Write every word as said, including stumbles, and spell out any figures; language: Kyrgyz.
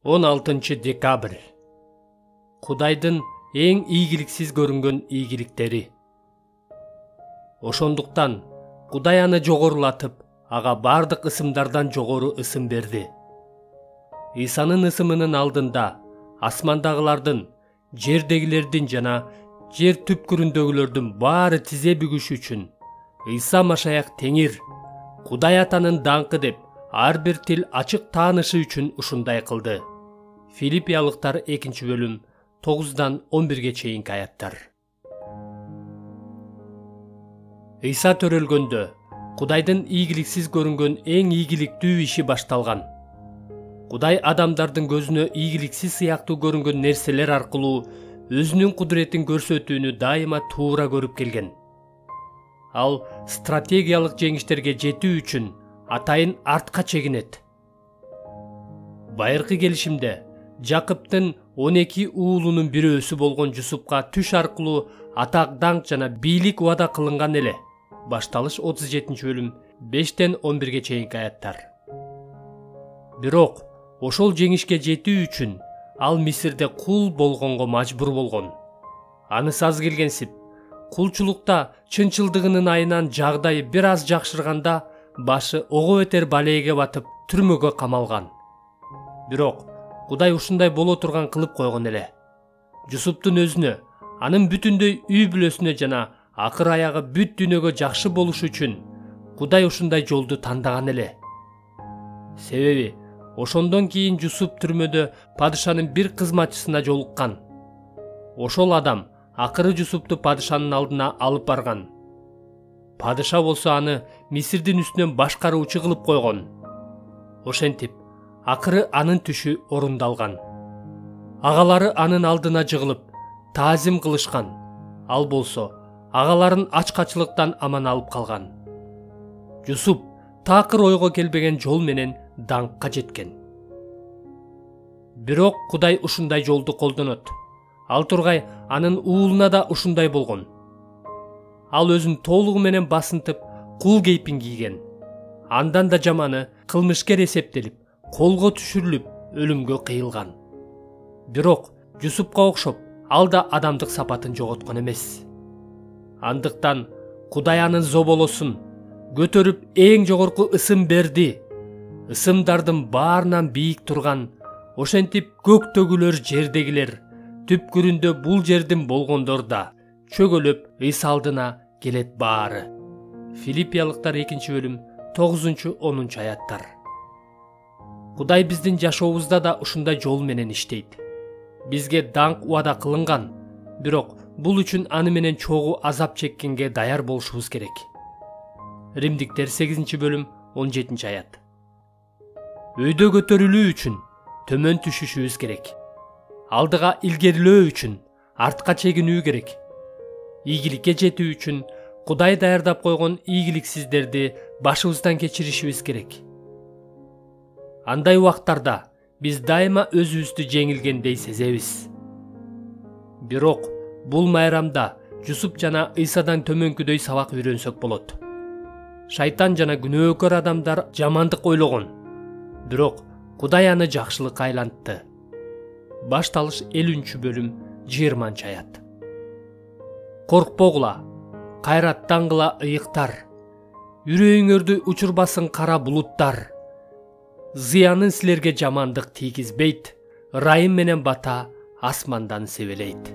он алтынчы декабрь. Кудайдын эң ийгиликсиз көрүнгөн ийгиликтери. Ошондуктан Кудай аны жогорулатып, ага бардык ысымдардан жогору ысым берди. Исанын ысымынын алдында асмандагылардын, жердегилердин жана жер түпкүрүндөгүлөрдүн баары тизе бүгүш үчүн Иса Машаяк Теңир, Кудай Атанын даңкы деп ар бир тил ачык таанышы үчүн ушундай кылды. Филиппиялыктар экинчи бөлүм тогуздан он бирге чейинки аяттар. Иса төрөлгөндө Кудайдын ийгиликсиз көрүнгөн эң ийгиликтүү иши башталган. Кудай адамдардын көзүнө ийгиликсиз сыяктуу көрүнгөн нерселер аркылуу өзүнүн кудуретин көрсөтүүнү дайыма туура көрүп келген. Ал стратегиялык жеңиштерге жетүү үчүн атайын артка чегинет. Байыркы келишимде Жакыптын он эки уулунун бирөөсү болгон Жусупка түш аркылуу атак, даңк жана бийлик убада кылынган эле. Башталыш отуз жетинчи бөлүм бештен он бирге чейинки аяттар. Бирок ошол жеңишке жетүү үчүн ал Мисирде кул болгонго мажбур болгон. Анысы аз келгенсип, кулчулукта чынчылдыгынын айынан жагдайы бир аз жакшырганда башы ого өтер балээге батып түрмөгө камалган. Бирок Кудай ушундай боло турган кылып койгон эле. Жусуптун өзүнө, анын бүтүндөй үй бүлөсүнө жана акыр аягы бүт дүйнөгө жакшы болуш үчүн Кудай ушундай жолду тандаган эле. Себеби ошондон кийин Жусуп түрмөдө падышанын бир кызматчысына жолуккан. Ошол адам акыры Жусупту падышанын алдына алып барган. Падыша болсо аны Мисирдин үстүнөн башкаруучу кылып койгон. Ошентип, акыры анын түшү орундалган. Агалары анын алдына жыгылып, таазим кылышкан. Ал болсо, агаларын ачкачылыктан аман алып калган. Жусуп такыр ойго келбеген жол менен даңкка жеткен. Бирок Кудай ушундай жолду колдонот. Ал тургай анын уулуна да ушундай болгон. Ал өзүн толугу менен басынтып, кул кейпин кийген. Андан да жаманы кылмышкер эсептелип, колго түшүрүлүп, өлүмгө кыйылган. Бирок Жусупка окшоп, ал да адамдык сапатын жоготкон эмес. Андыктан Кудай анын зоболосун көтөрүп эң жогорку ысым берди.Ысымдардын баарынан бийик турган, ошентип көктөгүлөр, жердегилер, түпкүрүндө бул жердин болгондор да чөгөлөп Иса алдына келет баары. Филиппиялыктар экинчи бөлүм тогузунчу онунчу аяттар. Кудай биздин жашообузда да ушундай жол менен иштейт. Бизге даңк убада кылынган, бирок бул үчүн аны менен чогуу азап чеккенге даяр болушубуз керек. Римдиктер сегизинчи бөлүм он жетинчи аят. Өйдө көтөрүлүү үчүн төмөн түшүшүбүз керек. Алдыга илгерилөө үчүн артка чегинүү керек. Ийгиликке жетүү үчүн Кудай даярдап койгон ийгиликсиздерди башыбыздан кечиришибиз керек. Андай убактарда биз дайыма өзүбүздү жеңилгендей сезебиз. Бирок бул майрамда Жусуп жана Исадан төмөнкүдөй сабак үйрөнсөк болот. Шайтан жана күнөөкөр адамдар жамандык ойлогон, бирок Кудай аны жакшылыкка айлантты. Башталыш элүүнчү бөлүм жыйырманчы аят. Коркпогула, кайраттангыла ыйыктар, үрөйүңөрдү учурбасын кара булуттар. Зыянын силерге жамандык тийгизбейт, ырайым менен бата асмандан себелейт.